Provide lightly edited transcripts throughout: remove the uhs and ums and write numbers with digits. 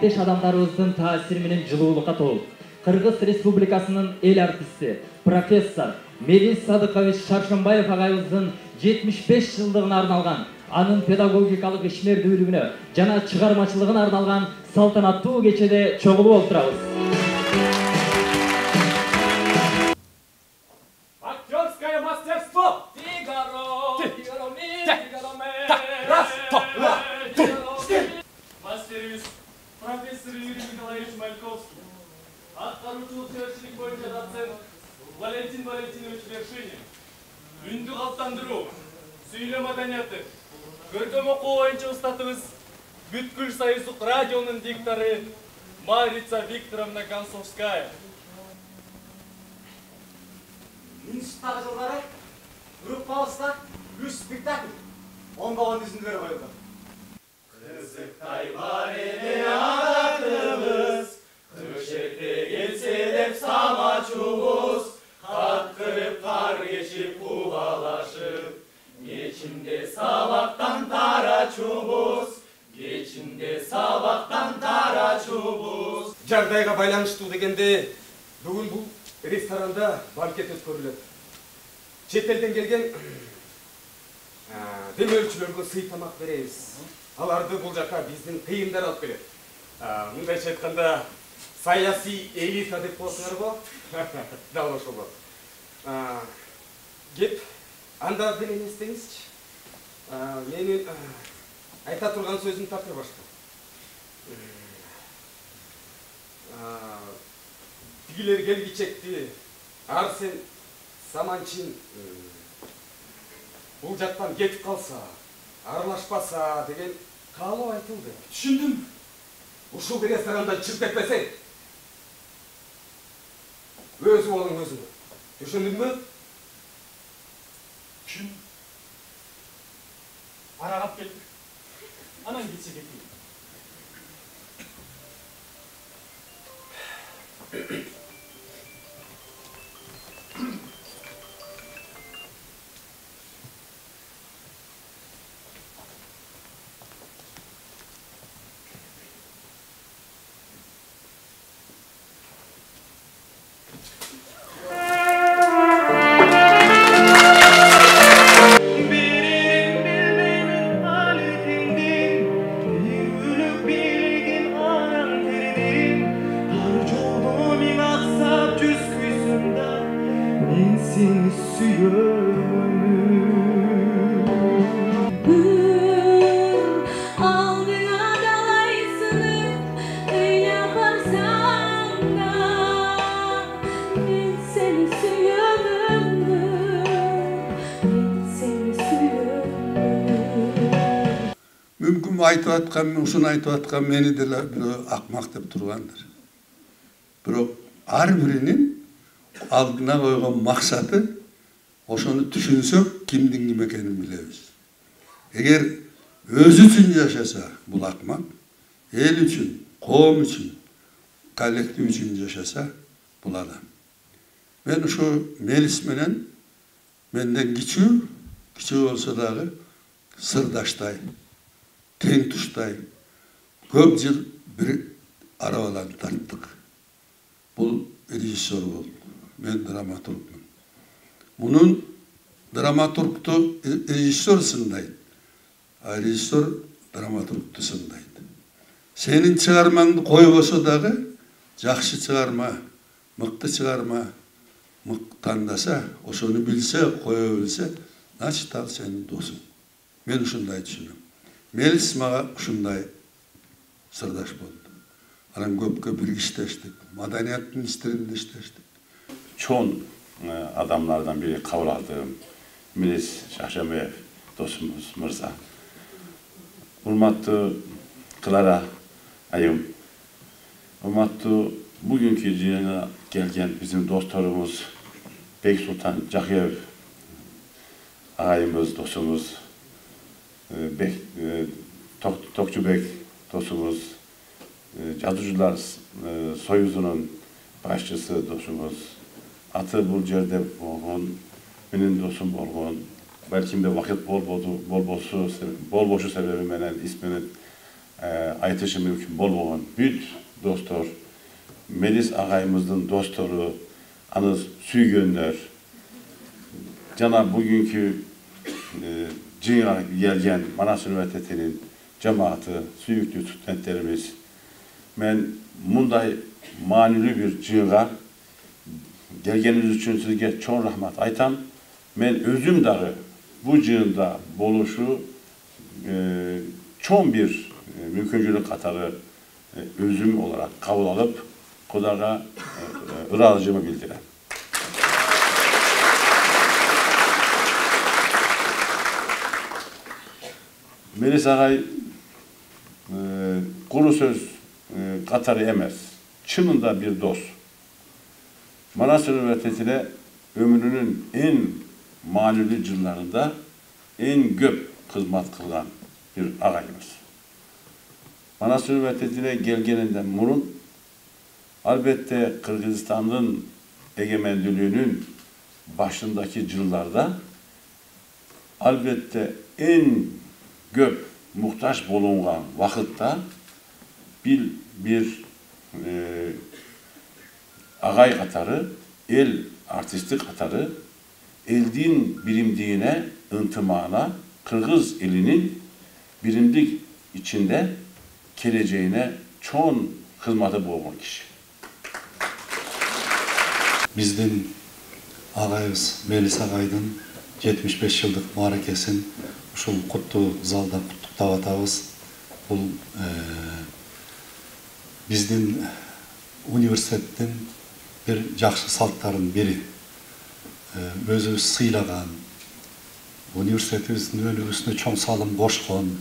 кесиптеш адамдарыбыздын таасири менен жылуулукка толуп, Кыргыз Республикасынын эл артисти, профессор Мелис Садыкович Шаршембаев агайыбыздын 75 жылдыгына арналган, анын педагогикалык ишмердүүлүгүнө жана чыгармачылыгына арналган салтанаттуу кечеде чогулуп отурабыз. Актерское мастерство! Мастерибиз профессор Юрий Николаевич Мальковский, аткаруучулук себепчилик боюнча доцент Валентин Валентинович Вершинин, үндү калыптандыруу, сүйлөө маданияты, көркөм окуу боюнча устатыбыз Бүткүл союздук радионун диктору Марица Викторовна Концовская. 1000-жылдары группабызда 3 спектакль оңбаған үзүндүлөр коюлду. Кызыктай бар эле адатыбыз, көшекте келсе деп самачубуз, каткырып кар кешип кубалашып, кечинде сабактан тарачубуз, кечинде сабактан тарачубуз. Жагдайга байланыштуу дегенде, бүгүн бул ресторанда банкет өткөрүлөт. Чет элден келген демөөрчүлөргө сый тамак беребиз. Аларды бул жака биздин кыйындар алып келет. Мындайча айтканда, саясий элита деп коесуңарбы? Дал ошол болот. Кеп, анда деле эмне истеңизчи? Менин айта турган сөзүм такыр башка. Тигилер келгичекти, Арсен Саманчин бул жактан кетип калса, аралашпаса деген каалоо айтылды. Түшүндүм. Ушул ресторандан чыгып кетпесең, өзү болуң өзүңө. Түшүндүңбү? Түшүндүм. Арагап келдик. Анан кетсе кетейин. Мүмкүн айтып аткан, ушуну айтып аткан мени деле бирөө акмак деп тургандыр. Бирок ар биринин алдына койгон максаты ошону түшүнсөк, кимдин ким экенин билебиз. Эгер өзү үчүн жашаса, бул акмак, эл үчүн, коом үчүн, коллектив үчүн жашаса, бул адам. Мен ушу Мелис менен менден кичүү болсо дагы сырдаштай, тең туштай, көп жыл бир арабалан тарттык. Бул режиссер болду, мен драматургмун. Мунун драматургту режиссер сындайт, а режиссер драматургту сындайт. Сенин чыгармаңды койбосо дагы жакшы чыгарма, мыкты чыгарма тандаса, ошону билсе, кое билсе, значит ал сенин досуң. Мен ушундай түшүнөм. Мелис мага ушундай сырдаш болду. Анан көпкө биргиштештик, маданияттын иштеринде иштештик. Чоң адамдардан бири кабыл алдым. Мелис Шаршембаев досумуз мырза. Урматтуу Клара айым, урматтуу бүгүнкү жыйынга келген биздин досторубуз Бексултан Жакиев агайымыз, досумуз, Токчубек досумуз, Жазуучулар союзунун башчысы досумуз, аты бул жерде болгон, менин досум болгон, балкимде вакыт болбошу себеби менен исминин айтышы мүмкүн болбогон бүт достор, Мелис агайымыздын достору, аны сүйгөндөр, жана бүгүнкү жыйынга келген Манас университетинин жамааты, сүйүктүү студенттерибиз, мен мындай маанилүү бир жыйынга келгениңиз үчүн сизге чоң рахмат айтам. Мен өзүм дагы бул жыйында болушу чоң бир мүмкүнчүлүк катары өзүм олара кабыл алып, Кудайга ыраазычылыгымды билдирем. Мелис агай куру сөз катары эмес, чынында бир дос. Манас университетине өмүрүнүн эң маанилүү жылдарында эң көп кызмат кылган бир агайыбыз. Манас университетине келгенинден мурун албетте Кыргызстандын эгемендүүлүгүнүн башындагы жылдарда албетте эң көп муктаж болгон вакытта бир агай катары, эл артисти катары элдин биримдигине, ынтымагына, кыргыз элинин биримдик ичинде келечегине чоң кызматы болгон киши. Биздин агайыбыз Мелис агайдын 75 жылдык мааракесин ушул куттуу залда куттуктап атабыз. Бул биздин университеттин бир жакшы салттарынын бири. Өзүбүз сыйлаган, университетибиздин өнүгүүсүнө чоң салым кошкон,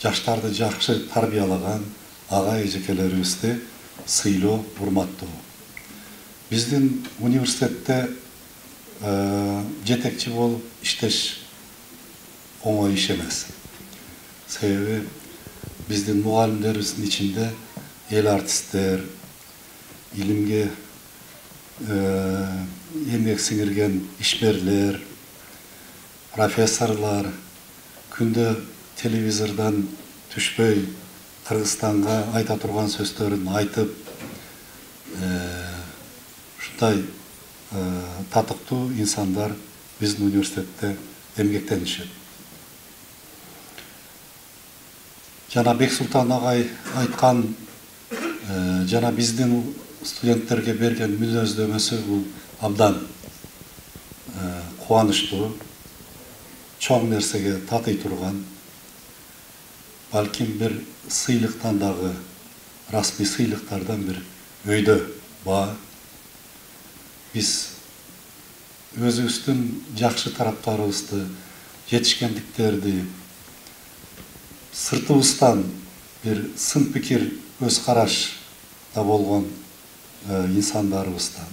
жаштарды жакшы тарбиялаган агай эжекелерибизди сыйлоо, урматтоо. Биздин университетте жетекчи болуп иштеш оңой иш эмес. Себеби биздин мугалимдерибиздин ичинде эл артисттер, илимге эмгек сиңирген ишмерлер, профессорлар күндө телевизордон түшпөй Кыргызстанга айта турган сөздөрүн айтып, ушундай татыктуу инсандар биздин университетте эмгектенишет. Жана Бексултан агай айткан, жана биздин студенттерге берген мүнөздөмөсү бул абдан кубанычтуу, чоң нерсеге татый турган, балким бир сыйлыктан дагы, расмий сыйлыктардан бир өйдө баа. Биз өзүбүздүн жакшы тараптарыбызды, жетишкендиктерди, сыртыбыздан бир сын пикир, өз карашта болгон инсандарыбыздан,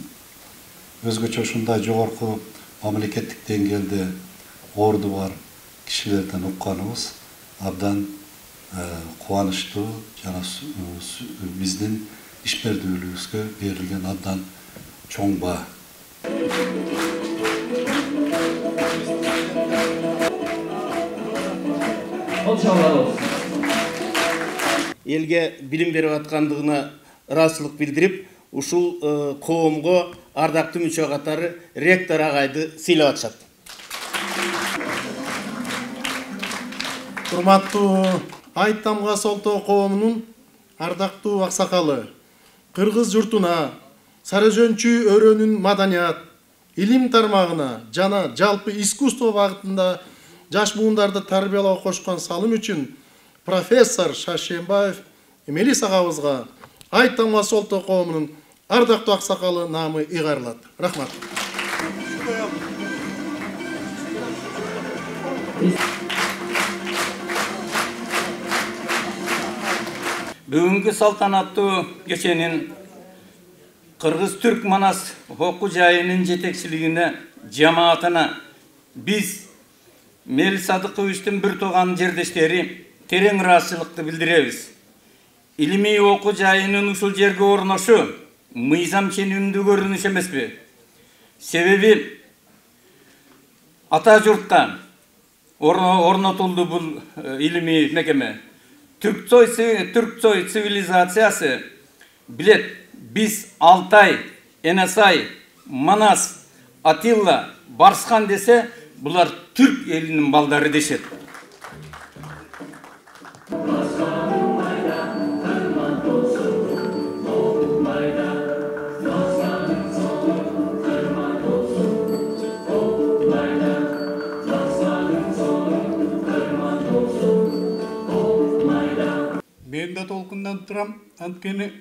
өзгөчө ушундай жогорку мамлекеттик деңгээлде орду бар кишилерден укканыбыз абдан кубанычтуу, жана биздин ишмердүүлүгүбүзгө берилген абдан чоң баа. Элге билим берип аткандыгына ыраазычылык билдирип, ушул коомго ардактуу мүчө катары ректор агайды сыйлап атышат. Урматтуу Айт Тамгасы Олтоо коомунун ардактуу аксакалы, кыргыз журтуна, Сарыжөнчү өрөөнүн маданият, илим тармагына жана жалпы искусство багытында жаш буундарды тарбиялоого кошкон салым үчүн профессор Шашенбаев Мелис агабызга Айт Тамгасы Олтоо коомунун ардактуу аксакалы наамы ыйгарылат. Рахмат. Бүгүнкү салтанаттуу кеченин Кыргыз-Түрк Манас окуу жайынын жетекчилигине, жамаатына биз Мелис Садыковичтин бир тууган жердештери терең ыраазычылыкты билдиребиз. Илимий окуу жайынын ушул жерге орношу мыйзам ченемдүү көрүнүш эмеспи? Себеби ата журтка орнотулду бул илимий мекеме. Түркцой цивилизациясы билет, биз Алтай, Энесай, Манас, Атилла, Барсхан десе, булар түрк элинин балдары дешет. Мен да толкундан турам, анткени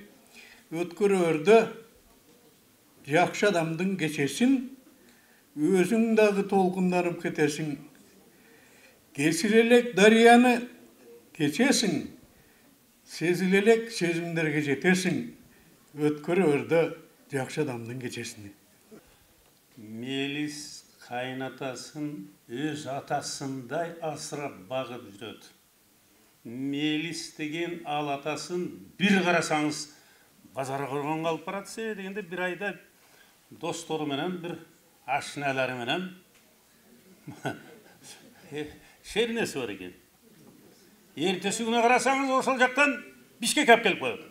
өткөр өрдө жакшы адамдын кечесин өзүң дагы толкунданып кетесиң. Кесир элек дарыяны кечесиң, сезил элек сезимдерге жетесиң. Өткөр өрдө жакшы адамдын кечесини. Мелис кайнатасын өз атасындай асырап багып жүрөт. Мелис деген ал атасын бир карасаңыз базара көргөнгө алып барат. Себеби дегенде бир айда достору менен, бир ашиналары менен шеринеси бар экен. Эртеси күнү карасаңыз ошол жактан Бишкекке алып келип коет.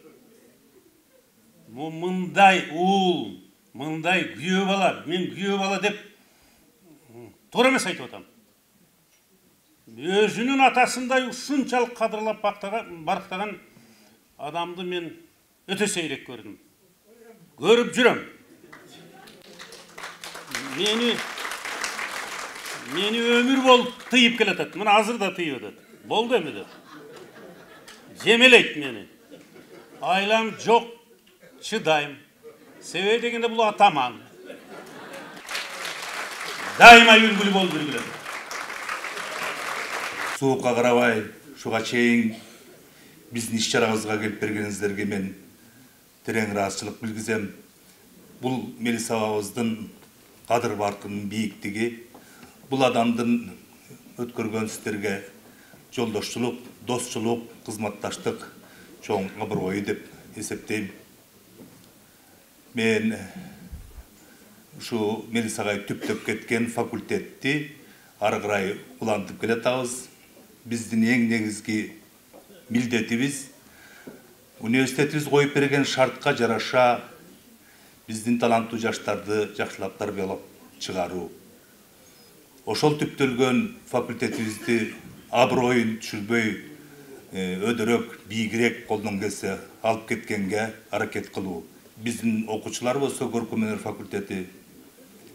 Мындай уул, мындай күйөө бала, мен күйөө бала деп туура эмес айтып атам. Өзүнүн атасындай ушунчалык кадырлап барктаган адамды мен өтө сейрек көрдүм. Көрүп жүрөм. Мени өмүр болуп тыйып келатат. Мына азыр да тыйып атат. Болду эми деп. Жемелейт мени. Айлам жок, чыдайм. Себеби дегенде бул атаман. Дайыма үлгүлүү болуп жүргүлө. Суукка карабай, ушуга чейин биздин иш-чарабызга келип бергениңиздерге мен терең ыраазычылык билгизем. Бул Мелис абабыздын кадыр баркынын бийиктиги, бул адамдын өткөргөн истерге жолдошчулук, досчулук, кызматташтык чоң аброю деп эсептейм. Мен ушу Мелис агай түптөп кеткен факультетти ары карай улантып келатабыз. Биздин эң негизги милдетибиз университетибиз коюп берген шартка жараша биздин таланттуу жаштарды жакшылап тарбиялап чыгаруу. Ошол түптөлгөн факультетибизди аброюн түшүрбөй, өдөрөк, бийигирээк колдон келсе алып кеткенге аракет кылуу. Биздин окуучулар болсо көркөмөнөр факультети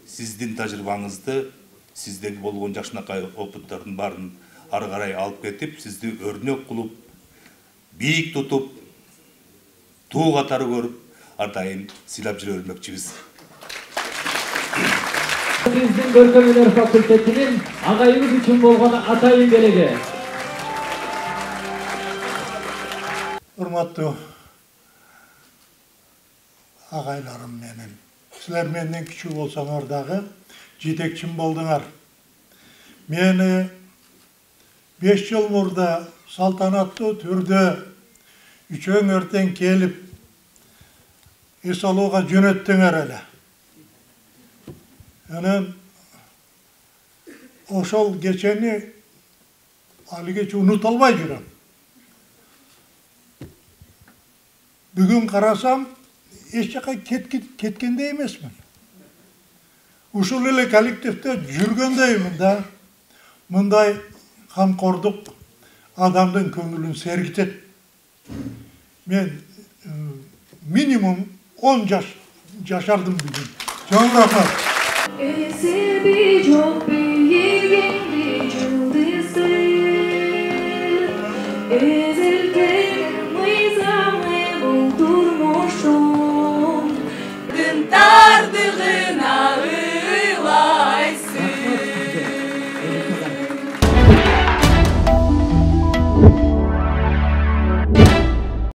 сиздин тажрыйбаңызды, сиздеги болгон жакшынакай опыттардын баарын ары карай алып кетип, сизди өрнөк кылып, бийик тутуп, туу катары көрүп, ар дайым сыйлап жүрө бермекчибиз. Биздин көркөмөнөр факультетинин агайыбыз үчүн болгон атайын белеги. Урматтуу агайларым менен, силер менден кичүү болсоңор дагы жетекчим болдуңар. Мени 5 жыл мурда салтанаттуу түрдө үчөөң өртен келип эс алууга жөнөттүңөр эле. Анан ошол кечени алигече унута албай жүрөм. Бүгүн карасам эч жака кеткендей эмесмин. Ушул эле коллективде жүргөндөймүн да. Мындай камкордук адамдын көңүлүн сергитет. Мен минимум 10 жаш жашардым бүгүн. Чоң рахмат. Esebi çok büyük bir yıldızdır.